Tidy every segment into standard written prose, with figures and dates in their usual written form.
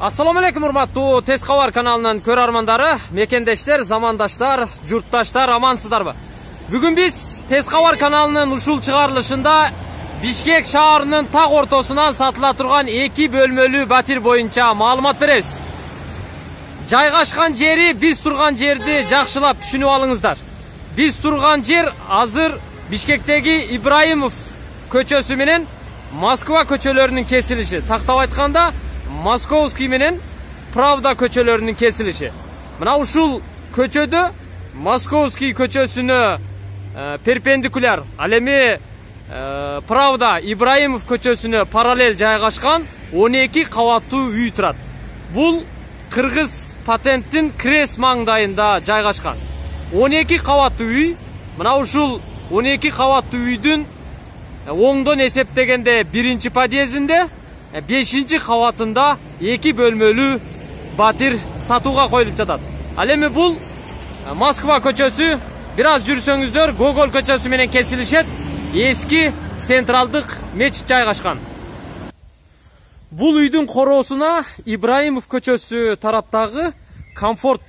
Assalamu alaikum урматтуу Тез Кабар каналынын көрөрмандары, мекендештер, замандаштар, журтташтар, амансыздарбы? Бүгүн биз Тез Кабар каналынын ушул чыгарылышында Бишкек шаарынын так ортосунан сатыла турган 2 бөлмөлүү батир боюнча маалымат беребиз. Жайгашкан жери биз турган жерди жакшылап түшүнүп алыңыздар. Биз турган жер азыр Бишкектеги Ибраимов көчөсү менен Москва көчөлөрүнүн кесилиши. Тактап айтканда Московский менен Правда көчөлөрүнүн кесилиши. Мына ушул көчөдө Московский көчөсүнө перпендикуляр, ал эми Правда Ибраимов көчөсүнө параллель жайгашкан 12 кабаттуу үй турат. Бул Кыргыз патенттин Крес маңдайында жайгашкан. 12 кабаттуу үй. Мына ушул 12 кабаттуу үйдүн оңдон эсептегенде 1-чи подъездинде 5-чи кабатында 2 бөлмөлүү батир сатууга коюлуп жатат. Ал эми бул Москва көчөсү, бир аз жүрсөңүздөр Гоголь көчөсү менен кесилишет. Эски централдык мечит жайгашкан. Бул үйдүн короосуна Ибраимов көчөсү тараптагы Комфорт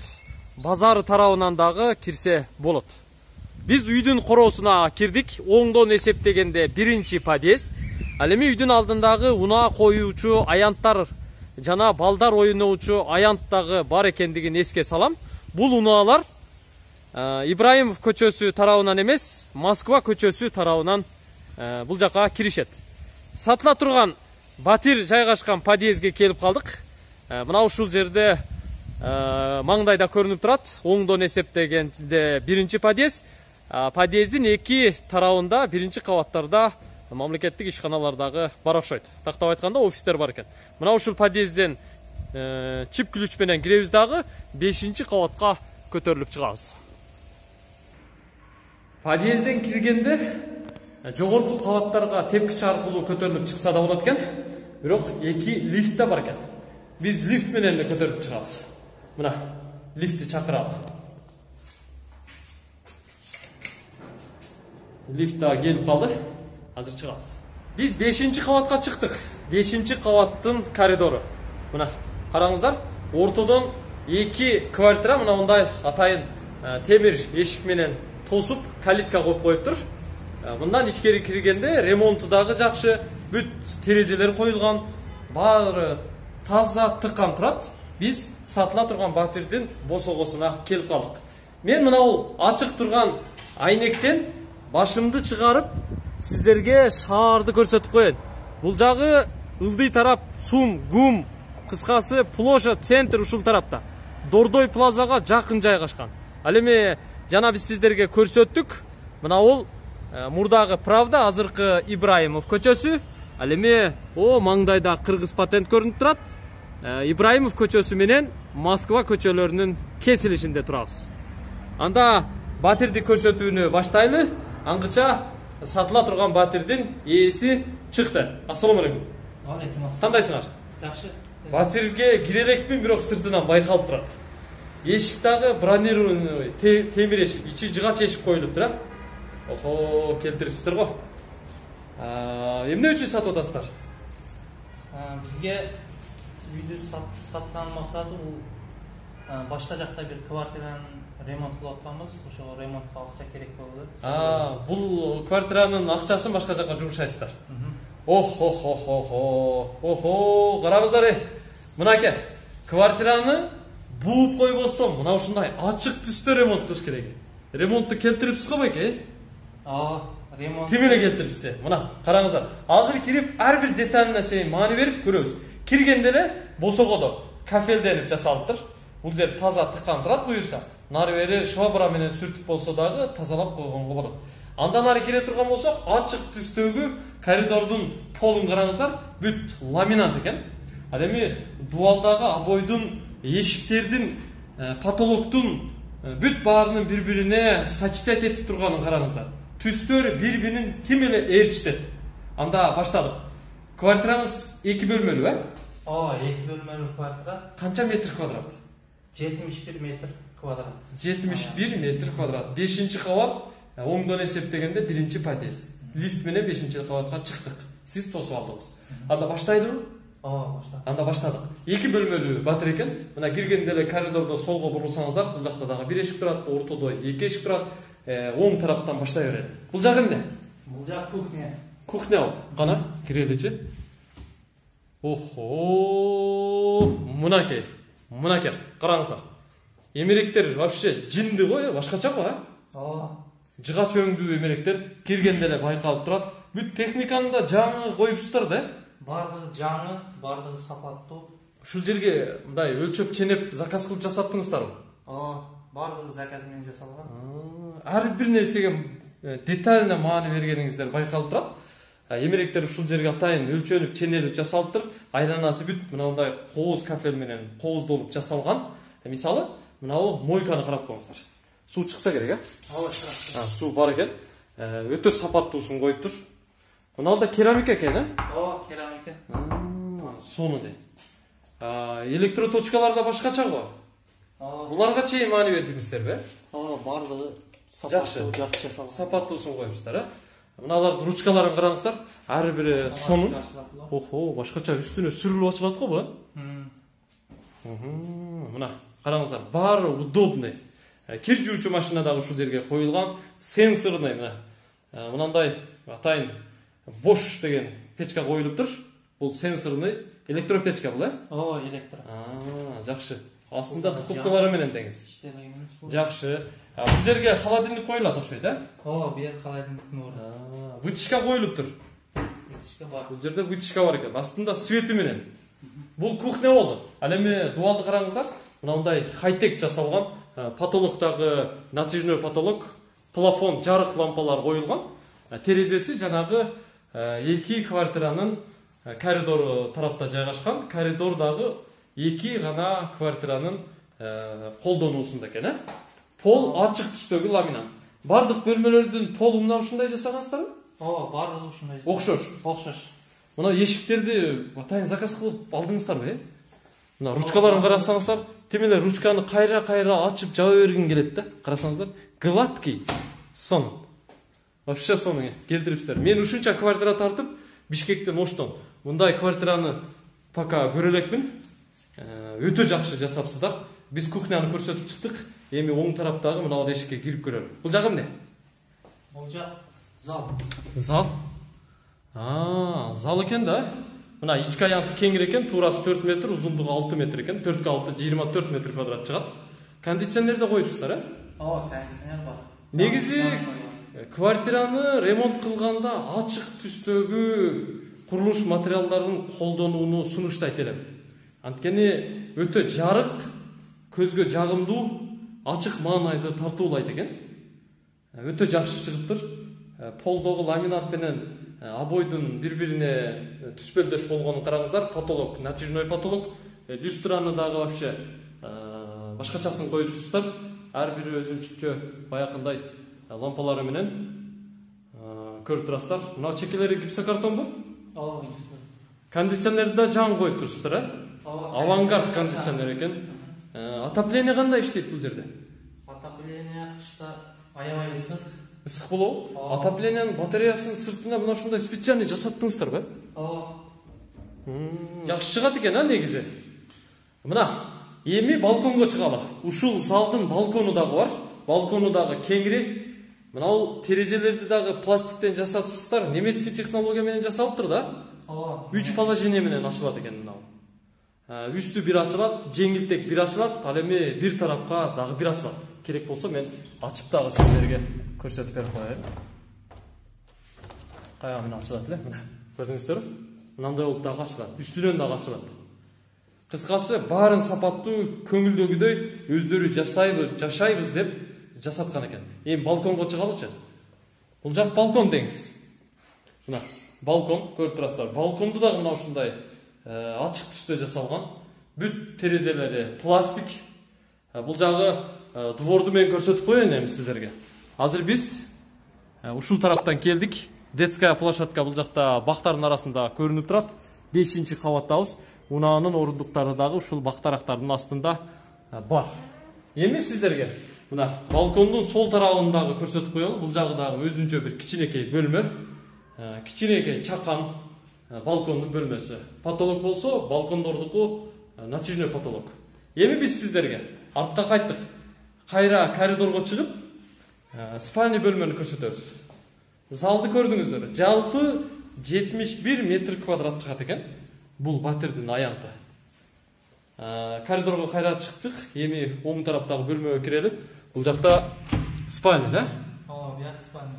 базары тарабынан дагы кирсе болот. Биз үйдүн короосуна кирдик. Оңдон эсептегенде 1-чи подъезд. Ал эми үйдүн алдындагы унаа коюучу аянттар жана балдар ойноочу аянт дагы бар экендигин эске салам. Бул унаалар Ибраимов көчөсү тарабынан эмес, Москва көчөсү тарабынан бул жака киришет. Сатыла турган батир жайгашкан подъездге келип калдык. Мына ушул жерде маңдайда көрүнүп турат. Оңдон эсептегенде 1-чи подъезд. Подъездин 2 тарабында 1-чи кабаттарда мамлекеттик ишканалардагы бар окшойт. Тактап айтканда офистер бар экен. Мына ушул подъездден чип ключ менен киребиз дагы 5-чи кабатка көтөрүлүп чыгабыз. Подъездден киргенде жогорку кабаттарга тепкич аркылуу көтөрүлүп чыкса да болот экен. Бирок 2 лифт да бар экен. Биз лифт менен эле көтөрүп чыгабыз. Мына лифтти чакыралы. Лифт да келип калды. Азыр чыгабыз. Биз 5-чи кабатка чыктык. 5-чи кабаттын коридору. Мына караңыздар, ортодон 2 квартира мына мындай атайын темир эшик менен тосуп калитка коюп коюптур. Мындан ичкери киргенде ремонту дагы жакшы, бүт терезелер коюлган, баары таза тыккан турат. Биз сатыла турган батирдин босогосуна келип калдык. Мен мына бул ачык турган айнектен башымды чыгарып сиздерге шаарды көрсөтүп коеюн. Бул жагы ылдый тарап Сум, Гум, кыскасы площадь, центр ушул тарапта. Дордой плазага жакын жайгашкан. Ал эми жана биз сиздерге көрсөттүк. Мына бул мурдагы Правда, азыркы Ибраимов көчөсү. Ал эми маңдайда Кыргыз патент көрүнүп турат. Ибраимов көчөсү менен Москва көчөлөрүнүн кесилишинде турабыз. Анда батирди көрсөтүүнү баштайлы. Аңгыча сатыла турган батирдин ээси чыкты. Ассаламу алейкум. Алейкум ассалам. Кандайсыңар? Жакшы. Батирге кире элекмин, бирок сыртынан байкалып турат. Эшик дагы бронированный темир эшик, ичи жыгач эшик коюлуптур, а? Охо, келтирипсиздер го. Эмне үчүн сатып атасыздар? Бизге үйдү саткан максаты бул башка жакта бир квартиранын ремонт кылып атканбыз. Ошого ремонтко акча керек болду. Бул квартиранын акчасын башка жакка жумшайсыздар. Охо, караңыздар. Мынакей, квартираны бууп койбостон мына ушундай ачык түстө ремонт кылыш керек. Ремонтту келтирипсиз го байке? Ремонт. Тим эле келтирипсиз. Мына караңыздар. Азыр кирип ар бир деталына чейин маани берип көрөбүз. Киргенде эле босогодо кафелденип жасалыптыр. Бул жер таза тыккан турат буюрса. Нары бери швабра менен сүртүп болсо дагы тазалап койгонго болот. Андан ары кире турган болсок, ачык түстөгү коридордун полун караңыздар, бүт ламинат экен. Ал эми дубалдагы обойдун, эшиктердин, потолоктун бүт баарынын бири-бирине сочетать этип турганын караңыздар. Түстөр бири-бирин тим эле ээрчитет. Анда баштадык. Квартираңыз 2 бөлмөлүү, 2 бөлмөлүү квартира. Канча метр квадрат? 71 метр квадрат. 71 метр квадрат. 5-чи кабат, оңдон эсептегенде 1-чи подъезд. Лифт менен 5-чи кабатка чыктык. Сиз тосуп алдыңыз. Анда баштайлыбы? баштадык. Анда баштадык. 2 бөлмөлүү батир экен. Мына киргенде эле коридордо солго бурулсаңыздар, бул жакта дагы 1 эшик турат, ортодо 2 эшик турат. Оң тараптан баштай берет. Бул жак эмне? Бул жак кухня. Кухня ал. Кана киреличи. Охо! Мынакей. Мынакей. Караңыздар. Эмеректер вообще жинди го, башкача го, Жыгач өңдүү эмеректер киргенде эле байкалып турат. Бүт техниканы да жаңы коюпсуздар да. Бардыгы жаңы, бардыгы сапаттуу. Ушул жерге мындай өлчөп ченеп заказ кылып жасаттыңыздарбы? Бардыгы заказ менен жасалган. Ар бир нерсеге детально маани бергениңиздер байкалып турат. Эмеректер ушул жерге атайын өлчөнүп, ченелип жасалыптыр. Айланасы бүт мындай кооз кафел менен кооздолуп жасалган. Мисалы, мынау мойканы карап коюңуздар. Суу чыкса керек, чыкат. Суу бар экен. Өтө сапаттуусун коюптур. Мыналда керамика экен, керамика. Сону дейм. Электроточкалар да башкача го. Буларга чейин маани бердиңиздерби? Бардыгы жакшы жасалган. Сапаттуусун коюпсуздар, Мыналардын ручкаларын караңыздар. Ар бири сонун. Охо, башкача үстүнө сүрүлүп ачылат го бу. Мына караңыздар, баары удобный. Кир жуучу машина дагы ушул жерге коюлган, сенсорный мына. Мынандай атайын бош деген печка коюлуптур. Бул сенсорный электропечка бул, электро. Жакшы. Астында духовкалары менен деңиз. Жакшы. Бул жерге холодильник коюлат окшойт, бу жер холодильник бар. Вытяжка коюлуптур. Вытяжка бар. Бул жерде вытяжка бар экен. Астында свети менен. Бул кухня болду. Ал эми дуалды караңыздар. Мындай хай-тек жасалган, потолоктагы натяжной потолок, плафон, жарык лампалар коюлган. Терезеси жанагы 2 квартиранын коридору тарапта жайгашкан. Коридордагы 2 гана квартиранын колдонуусунда экен, Пол ачык түстөгү ламинат. Бардык бөлмөлөрдүн полу мына ушундай жасагансыздарбы? Бардыгы ушундай. Окшош. Мына эшиктерди атайын заказ кылып алдыңыздарбы, Мына ручкаларын карасаңыздар, темеле ручканы кайра ачып жаба бергин келет да. Карасаңыздар, гладкий. Сон. Вообще сону келтириптсиздер. Мен ушунча квартира тартып, Бишкектен Оштон мындай квартираны пока көрө элекмин. Өтө жакшы жасапсыздар. Биз кухняны көрсөтүп чыктык. Эми оң тараптагы мына эшикке кирип көрөлү. Бул жак эмне? Бул жак зал. Зал? Зал экен да. Мына ички аянты кеңир экен, туурасы 4 метр, узундугу 6 метр экен. 4 × 6 24 метр квадрат чыгат. Кондиционер да коюпсуздар, кондиционер бар. Негизи квартираны ремонт кылганда ачык түстөгү курулуш материалдарын колдонууну сунуштайт элем. Анткени өтө жарык, көзгө жагымдуу, ачык маанайды тартуулайт экен. Өтө жакшы чыгыптыр. Полдогу ламинат менен обойдун бири-бирине түспөлдөш болгонун караңыздар. Потолок, натяжной потолок, люстраны дагы вообще башкачасын коюпсуздар. Ар бири өзүнчө баякындай лампалары менен көрүп турасыздар. Мына чекелери гипсокартонбу? Кондиционерди да жаңы коюп турсуздар, Авангард кондиционер экен. Отопление кандай иштейт бул жерде? Отопление кышта аябай ысык. Ысык болобу? Отоплениянын батареясынын сыртына мына ушундай специальный жасаттыңыздарбы? Жакшы чыгат экен, негизи. Мына эми балконго чыгалы. Ушул залдын балкону дагы бар. Балкону дагы кеңири. Мына терезелерди дагы пластиктен жасатыпсыздар. Немецкий технология менен жасалыптыр да. 3 положение менен ачылат экен мына. Үстү бир ачылат, жеңилтек бир ачылат, ал эми бир тарапка дагы бир ачылат. Керек болсо мен ачып дагы сиздерге көрсөтүп берип коеюн. Каяга менен ачылат эле, мына. Көрдүңүздөрбү? Мындай болуп дагы ачылат, үстүнөн дагы ачылат. Кыскасы, баарын сапаттуу, көңүлдөгүдөй өздөрү жашайбыз деп жасаткан экен. Эми балконго чыгалычы. Бул жак балкон деңиз. Мына, балкон көрүп турасыздар. Балконду дагы мына ушундай ачык түстө жасалган. Бүт терезелери пластик. Бул жагы дворду мен көрсөтүп коеюн эми сиздерге. Азыр биз ушул тараптан келдик. Детская площадка бул жакта бактардын арасында көрүнүп турат. 5-кабаттабыз. Унаанын орундуктары дагы ушул бактарактардын астында бар. Эми сиздерге мына балкондун сол тарабындагы көрсөтүп коелу. Бул жагы дагы өзүнчө бир кичинекей бөлмө. Кичинекей чакан. балкондун бөлмөсү. Потолок болсо балкондордуку натяжной потолок. Эми биз сиздерге артка кайттык. Кайра коридорго чыгып, спальный бөлмөнү көрсөтөбүз. Залды көрдүңүздөр. Жалпы 71 метр квадрат чыгат экен. Бул батирдин аянты. Коридорго кайра чыктык. Эми оң тараптагы бөлмөгө кирели. Бул жакта спальный, да? Бияк спальный.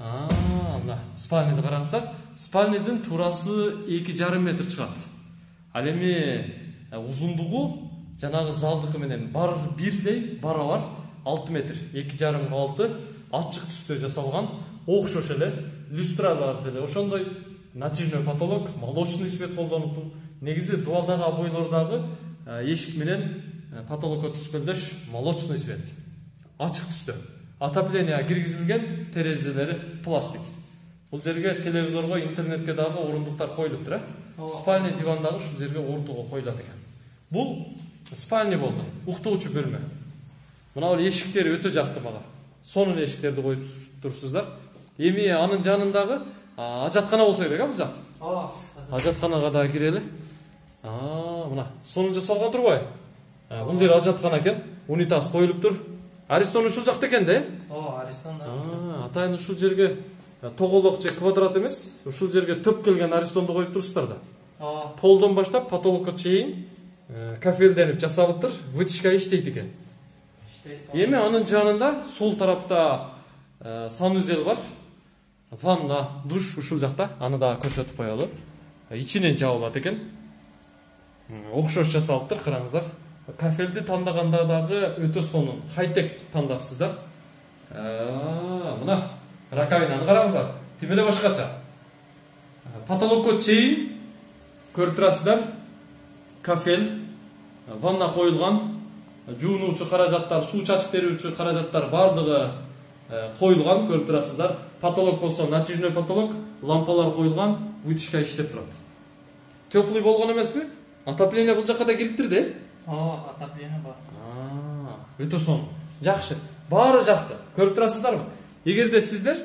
Мына спальныйды караңыздар. Спальныйдын туурасы 2,5 метр чыгат. Ал эми узундугу жанагы залдыкы менен бар бирдей барабар 6 метр. 2,5 6 ачык түстө жасалган, окшош эле, люстралар деле ошондой натяжной потолок, молочный свет колдонуптур. Негизи дубалдагы обойлордагы эшик менен потолокко түспөлдөш молочный свет. Ачык түстө. Отопление киргизилген, терезелери пластик. Бул жерге телевизорго, интернетке дагы орундуктар коюлуптур, спальный дивандагы ушул жерге ортого коюлат экен. Бул спальный болду, уктоочу бөлмө. Мына бул эшиктери өтө жакты мага. Сонун эшиктерди коюп турсуздар. Эми анын жанындагы ажаткана болсо керек, бул жак. Ажатканага да кирели. Мына сонун жасалган турбайбы? Бул жер ажаткана экен, унитаз коюлуптур. Аристон ушул жакта экен да? Аристон да. Атайын ушул жерге тоголок же квадрат эмес, ушул жерге төп келген аристонду коюп турсуздар да. Полдон баштап потолокко чейин кафелденип жасалыптыр, вытяжка иштейт экен. Эми анын жанында сол тарапта санузел бар. Ванна, душ ушул жакта, аны да көрсөтүп коелу. Ичинен жабылат экен. Окшош жасалыптыр, караңыздар. Кафелди тандаганда дагы өтө сонун, хай-тек тандапсыздар. Мына раковинаны караңыздар. Тим эле башкача. Потолокко чейин көрүп турасыздар. Кафел, ванна коюлган, жуунуучу каражаттар, суу чачып берүүчү каражаттар бардыгы коюлган, көрүп турасыздар. Потолок болсо натяжной потолок, лампалар коюлган, вытяжка иштеп турат. Теплый болгон эмеспи? Отопление бул жакка да кириптир да? Отопление бар. Өтө сонун. Жакшы. Баары жакты. Көрүп турасыздарбы? Эгерде сиздер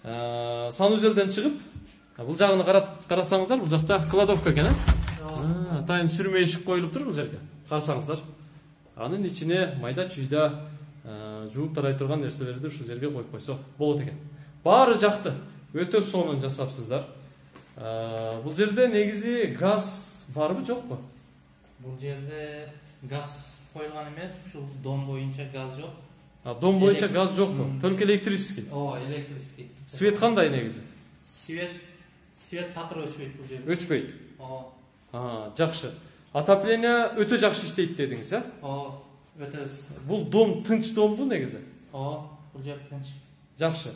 санузелден чыгып, бул жагын карасаңыздар, бул жакта кладовка экен, атайын сүрмө эшик коюлуптур бул жерге. Карасаңыздар. Анын ичине майда чүйдө жууп тарай турган нерселерди ушул жерге коюп койсо болот экен. Баары жакты. Өтө сонун жасапсыздар. Бул жерде негизи газ барбы, жокпу? Бул жерде газ коюлган эмес, ушул дом боюнча газ жок. Дом боюнча газ жокпу? Только электрический. Электрический. Свет кандай негизи? Свет такыр өчпөйт бул жерде. Өчпөйт. Жакшы. Отопление өтө жакшы иштейт дедиңиз, Өтө. Бул дом тынч домбу негизи? Бул жер тынч. Жакшы.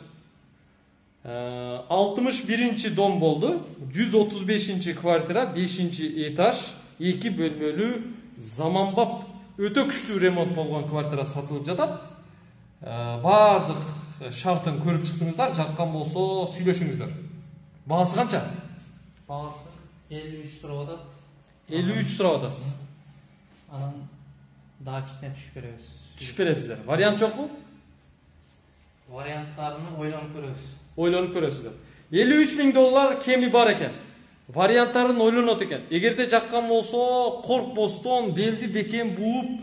61-чи дом болду. 135-чи квартира, 5-чи этаж, 2 бөлмөлүү, заманбап, өтө күчтүү ремонт болгон квартира сатылып жатат. Бардык шартын көрүп чыктыңыздар, жаккан болсо сүйлөшүңүздөр. Баасы канча? Баасы 53 сурап атат. 53 сурап атасыз. Анан дагы кичине түшүп беребиз. Түшүп бересиздер. Вариант жокпу? Варианттарын ойлонуп көрөбүз. Ойлонуп көрөсүздөр. $53,000 кеми бар экен. Варианттарын ойлонот экен. Эгерде жаккан болсо, коркпостон, белди бекем бууп,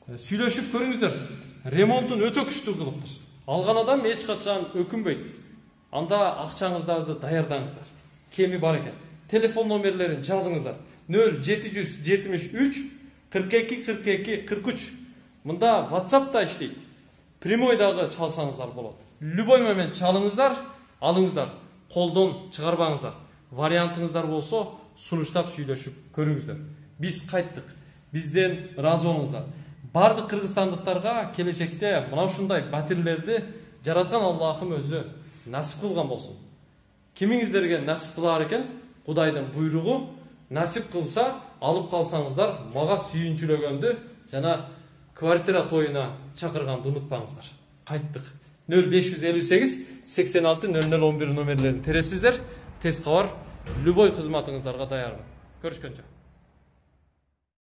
сүйлөшүп көрүңүздөр. Ремонтун өтө күчтүү кылыптыр. Алган адам эч качан өкүнбөйт. Анда акчаңыздарды даярдаңыздар. Кеми бар экен. Телефон номерлерин жазыңыздар. 0773 42 42 43. Мында WhatsApp да иштейт. Прямой дагы чалсаңыздар болот. Любой момент чалыңыздар, алыңыздар. Колдон чыгарбаңыздар. Вариантыңыздар болсо, сунуштап сүйлөшүп көрүңүздөр. Биз кайттык. Бизден ыраазы болуңуздар. Бардык кыргызстандыктарга келечекте мына ушундай батирлерди жараткан Аллахым өзү насип кылган болсун. Кимиңиздерге насип кылар экен? Кудайдын буйругу. Насип кылса, алып калсаңыздар, мага сүйүнчүлөгөндү жана квартира тоюна чакырганды унутпаңыздар. Кайттык. 0558 86 0011 номерлерин тересиздер. Тез кабар, любой кызматыңыздарга даярмын. Көрүшкөнчө.